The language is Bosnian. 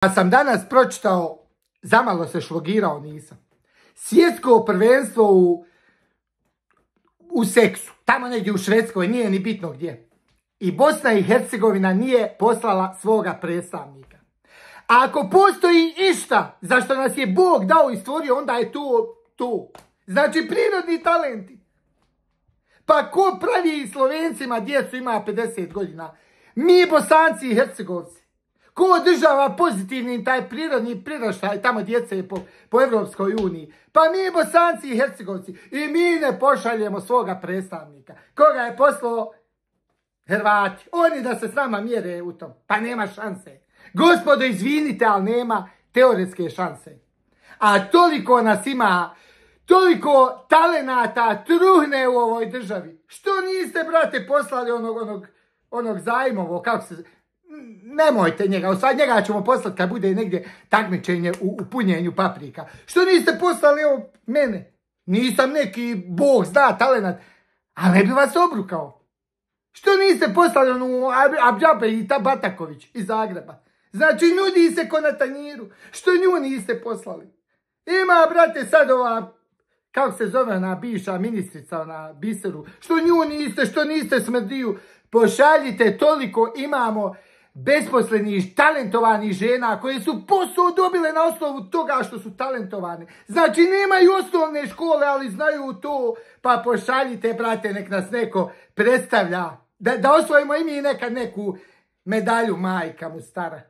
Ja sam danas pročitao, zamalo se šlogirao nisam, svjetsko prvenstvo u seksu, tamo negdje u Švedskoj, nije ni bitno gdje. I Bosna i Hercegovina nije poslala svoga predstavnika. A ako postoji išta za što nas je Bog dao i stvorio, onda je to. Znači prirodni talenti. Pa ko pravi Slovencima djecu ima 50 godina? Mi Bosanci i Hercegovci. Ko održava pozitivni taj prirodni priraštaj tamo djece po Evropskoj uniji? Pa mi Bosanci i Hercegovci. I mi ne pošaljemo svoga predstavnika. Koga je poslao? Hrvati. Oni da se s nama mjere u tom. Pa nema šanse. Gospodo, izvinite, ali nema teoretske šanse. A toliko nas ima, toliko talenata truhne u ovoj državi. Što niste, brate, poslali onog Zajmovo, kako se... Nemojte njega, sad njega ćemo poslati kad bude negdje takmičenje u punjenju paprika. Što niste poslali mene? Nisam neki Bog zna talenat, ali ne bi vas obrukao. Što niste poslali Abdžabe i Bataković iz Zagreba? Znači nudi se ko na tanjiru. Što nju niste poslali? Ima, brate, sad ova, kako se zove ona bivša ministrica, ona Biseru. Što nju niste, što niste Smrdiju? Pošaljite, toliko imamo besposlenih, talentovanih žena koje su posao dobile na osnovu toga što su talentovane. Znači nemaju osnovne škole, ali znaju to. Pa pošaljite, brate, nek nas neko predstavlja. Da osvojimo i mi nekad neku medalju, majka mu stara.